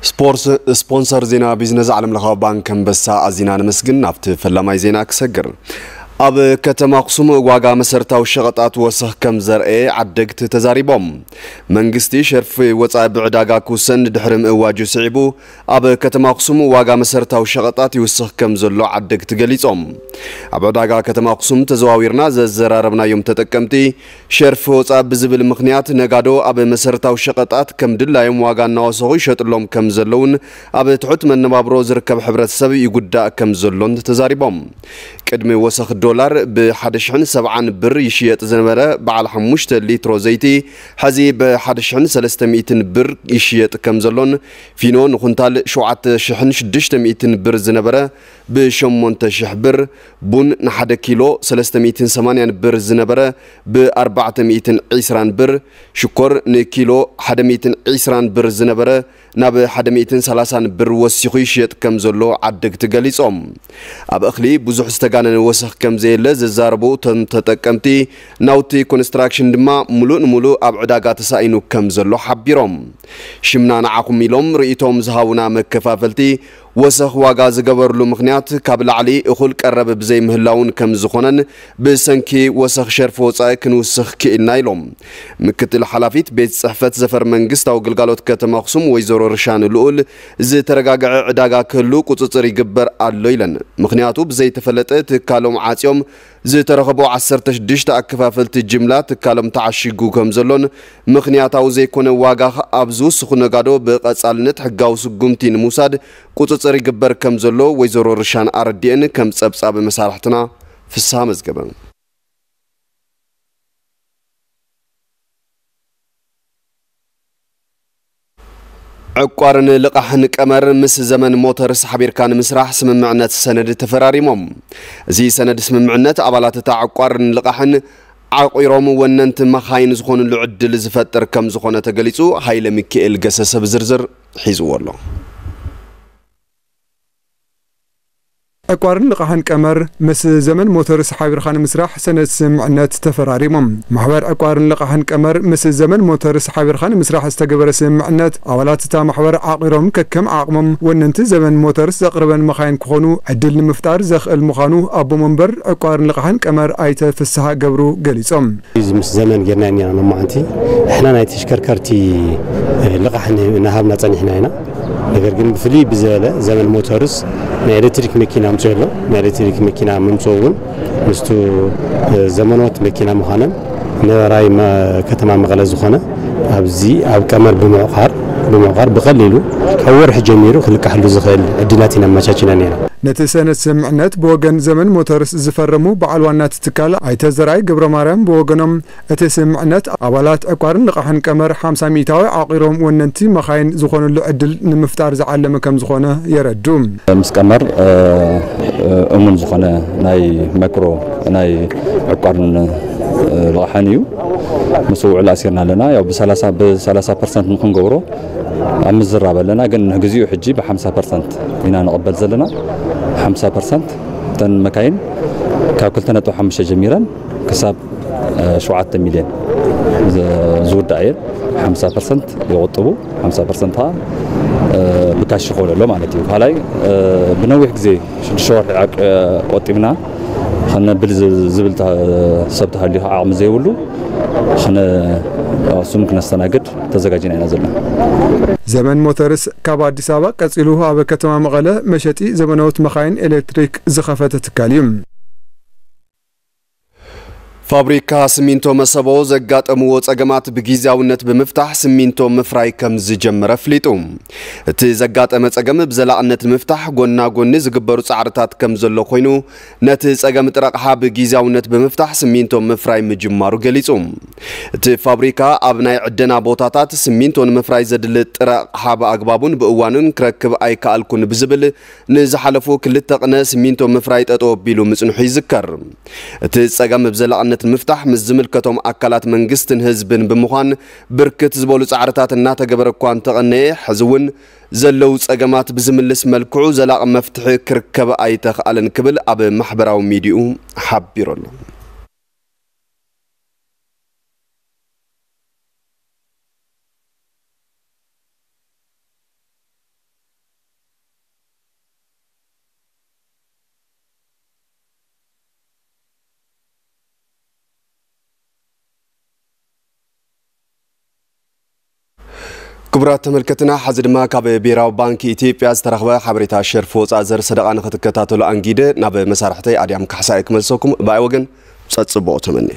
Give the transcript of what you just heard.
ስፖርት፣ ስፖንሰር ዜና ቢዝነስ ዓለም ለኻዊ ባንክ ኣንበሳ ኣዚና ነመስግን። ናብቲ ፈላማይ ዜና ክሰግር። ኣብ ከተማ ኣኽሱም ዋጋ መሰረታዊ ሸቐጣት ወሰኽ ከም ዘርኤ ዓደግቲ ተዛሪቦም። መንግስቲ ሸርፊ ወፃኢ ብዕዳጋ ክውሰን ድሕሪ ምእዋጁ ስዒቡ፣ ኣብ ከተማ ኣኽሱም ዋጋ መሰረታዊ ሸቐጣት ይውስኽ ከም ዘሎ ዓደግቲ ገሊጾም። ኣብ ዕዳጋ ከተማ ኣኽሱም ተዘዋዊርና ዘዘራረብናዮም ተጠቀምቲ፣ ሸርፊ ወፃኢ ብዝብል ምኽንያት ነጋዶ ኣብ መሰረታዊ ሸቐጣት ከም ድላዮም ዋጋ እናወሰኹ ይሸጥሎም ከም ዘለውን ኣብ ትሑት መነባብሮ ዝርከብ ሕብረተሰብ ይጉዳእ ከም ዘሎን ተዛሪቦም። ቅድሚ ወሰኽ ዶላር ብ ሓደ ሽሕን ሰብዓን ብር ይሽየጥ ዝነበረ በዓል ሓሙሽተ ሊትሮ ዘይቲ፣ ሕዚ ብ ሓደ ሽሕን ሰለስተ ሚእትን ብር ይሽየጥ ከም ዘሎን፣ ፊኖ ንኹንታል ሸውዓተ ሽሕን ሽዱሽተ ሚእትን ብር ዝነበረ ብ ሸሞንተ ሽሕ ብር፣ ቡን ንሓደ ኪሎ ሰለስተ ሚእትን ሰማንያን ብር ዝነበረ ብ ኣርባዕተ ሚእትን ዕስራን ብር፣ ሽኮር ንኪሎ ሓደ ሚእትን ዕስራን ብር ዝነበረ ናብ ሓደ ሚእትን ሰላሳን ብር ወሲኹ ይሽየጥ ከም ዘሎ ዓደግቲ ገሊጾም። ኣብ እኽሊ ብዙሕ ዝተጋነነ ወሰኽ ከም ዘየለ ዘዛረቡ እቶም ተጠቀምቲ፣ ናውቲ ኮንስትራክሽን ድማ ሙሉእ ንሙሉእ ኣብ ዕዳጋ ተሳኢኑ ከም ዘሎ ሓቢሮም። ሽምና ንዓኹም ኢሎም ርእይቶም ዝሃቡና መከፋፈልቲ፣ ወሰኽ ዋጋ ዝገበርሉ ምኽንያት ካብ ላዕሊ እኹል ቀረብ ብዘይምህላውን ከም ዝኾነን ብሰንኪ ወሰኽ ሸርፊ ወጻኢ ክንውስኽ ክኢልና ኢሎም። ምክትል ሓላፊት ቤት ጽሕፈት ዘፈር መንግስታዊ ግልጋሎት ከተማ ኣኽሱም ወይዘሮ ርሻን ልኡል፣ ዝተረጋግዐ ዕዳጋ ክህሉ ቁጽጽር ይግበር ኣሎ ኢለን። ምኽንያቱ ብዘይተፈለጠ ትካሎም ዓጽዮም ዝተረኸቡ ዓሰርተ ሽዱሽተ ኣከፋፈልቲ ጅምላ ትካሎም ተዓሺጉ ከም ዘሎን ምኽንያታዊ ዘይኮነ ዋጋ ኣብ ዝውስኹ ነጋዶ ብቐጻልነት ሕጋዊ ስጉምቲ ንምውሳድ ቁጽጽር ይግበር ከም ዘሎ ወይዘሮ ርሻን ኣረዲኤን ከም ጸብጻብ መሳርሕትና ፍስሃ መዝገበ። ዕቋርን ልቓሕን ቀመር ምስ ዘመን ሞተርስ ሓቢርካ ንምስራሕ ስምምዕነት ሰነድ ተፈራሪሞም። እዚ ሰነድ ስምምዕነት ኣባላት እታ ዕቋርን ልቓሕን ዓቑሮም ወነንቲ መኻይን ዝኾኑሉ ዕድል ዝፈጥር ከም ዝኾነ ተገሊጹ። ሃይለ ሚካኤል ገሰሰ ብዝርዝር ሒዝዎ ኣሎ። ዕቋርን ልቓሕን ቀመር ምስ ዘመን ሞተርስ ሓቢርካ ንምስራሕ ሰነድ ስምምዕነት ተፈራሪሞም። ማሕበር ዕቋርን ልቓሕን ቀመር ምስ ዘመን ሞተርስ ሓቢርካ ንምስራሕ ዝተገበረ ስምምዕነት ኣባላት እታ ማሕበር ዓቒሮም ከከም ዓቕሞም ወነንቲ ዘመን ሞተርስ ዘቕርበን መኻይን ክኾኑ ዕድል ንምፍጣር ዘኽእል ምዃኑ ኣቦ መንበር ዕቋርን ልቓሕን ቀመር ኣይተ ፍስሃ ገብሩ ገሊጾም። እዚ ምስ ዘመን ጌርና ኢና ሎማዓንቲ ንሕና ናይ ተሽከርከርቲ ልቓሕ ን-፣ እናሃብና ጸኒሕና ኢና። ነገር ግን ብፍልይ ብዝበለ ዘመን ሞተርስ ናይ ኤሌክትሪክ መኪና ኣምፅኡ ኣሎ። ናይ ኤሌክትሪክ መኪና ምምፅኡ እውን ምስቱ፣ እ፣ ዘመኖት መኪና ምዃነን ነበራይ መ-፣ ከተማ መቐለ ዝኾነ ኣብዚ ኣብ ቀመር ብምዕቋር፣ ብምዕቋር ብቐሊሉ ካብ ወርሒ ጀሚሩ ክልቃሕሉ ዝኽእል ዕድላት ኢና ኣመቻችና ነይና። ነቲ ሰነድ ስምምዕነት ብወገን ዘመን ሞተርስ ዝፈረሙ በዓል ዋና እቲ ትካል ኣይተ ዘርኣይ ገብረ ማርያም ብወገኖም፣ እቲ ስምምዕነት ኣባላት ዕቋርን ልቓሕን ቀመር ሓምሳ ሚእታዊ ዓቒሮም ወነንቲ መኻይን ዝኾኑሉ ዕድል ንምፍጣር ዝዓለመ ከም ዝኾነ የረዱ። ምስ ቀመር፣ እ፣ እ፣ እሙን ዝኾነ ናይ ማይክሮ ናይ ዕቋርን፣ እ፣ ልቓሕን እዩ። ምስ ውዕል ኣሲርና ኣለና። ያው ብሰላሳ፣ ብሰላሳ ፐርሰንት ንክንገብሮ ኣብ ምዝራብ ኣለና። ግን ንግዚኡ ሕጂ ብሓምሳ ፐርሰንት ኢና ንቕበል ዘለና። ሓምሳ ፐርሰንት እተን መካይን ካብ ክልተ ነጥቢ ሓሙሽተ ጀሚረን ክሳብ፣ እ፣ ሸውዓተ ሚልዮን ዝ-፣ ዝውዳእ እየን። ሓምሳ ፐርሰንት ይቑጥቡ፣ ሓምሳ ፐርሰንት ከዓ፣ እ፣ ብካሽ ይኾነሎ ማለት እዩ። ካልኣይ፣ እ፣ ብነዊሕ ግዜ ሽዱሽተ ወርሒ ዓቅ-፣ ቆጢብና ኸነብል ዝ-፣ ዝብል ተ-፣ ሰብ ተሃልዩ ከዓ ዓቕሚ ዘይብሉ ኸነ-፣ እሱም ክነስተናግድ ተዘጋጅና ኢና ዘለና። ዘመን ሞተርስ ካብ ኣዲስ ኣበባ ቀጺሉ ኣብ ከተማ መቐለ መሸጢ ዘመናዊት መኻይን ኤሌክትሪክ ዝኸፈተ ትካል እዩ። ፋብሪካ ስሚንቶ መሰቦ ዘጋጠምዎ ጸገማት ብጊዜያውነት ብምፍታሕ ስሚንቶ ምፍራይ ከም ዝጀመረ ኣፍሊጡ። እቲ ዘጋጠመ ጸገም ብዘላቕነት ንምፍታሕ ጎና ጎኒ ዝግበሩ ጻዕርታት ከም ዘሎ ኮይኑ፣ ነቲ ጸገም ጥረ ኣቕሓ ብጊዜያውነት ብምፍታሕ ስሚንቶ ምፍራይ ምጅማሩ ገሊጹ። እቲ ፋብሪካ ኣብ ናይ ዕደና ቦታታት ስሚንቶ ንምፍራይ ዘድሊ ጥረ ኣቕሓ ብኣግባቡን ብእዋኑን ክረክብ ኣይከኣልኩን ብዝብል ንዝሓለፉ ክልተ ቅነ ስሚንቶ ምፍራይ ጠጠው ኣቢሉ ምጽንሑ ይዝከር። እቲ ጸገም ብዘላቕነት ንምፍታሕ ምስ ዝምልከቶም ኣካላት መንግስትን ህዝብን ብምዃን ብርክት ዝበሉ ጻዕርታት እናተገበረ እኳ እንተቐነየ፣ ሕዚ እውን ዘለዉ ጸገማት ብዝምልስ መልክዑ ዘላቒ መፍትሒ ክርከብ ኣይተኽኣለን ክብል ኣብ ማሕበራዊ ሚዲኡ ሓቢሩ ኣሎ። ክቡራት ተመልከትና፣ ሐዚ ድማ ካብ ብሔራዊ ባንክ ኢትዮጵያ ዝተረኽበ ሓበሬታ ሸርፊ ወፃእ ዘር ሰደቓ ንኽትከታተሉ ኣንጊደ ናብ መሳርሕተይ ኣድያም ካሕሳይ ክመልሰኩም ብኣይ ወገን ጸጽቦ ተመኒ።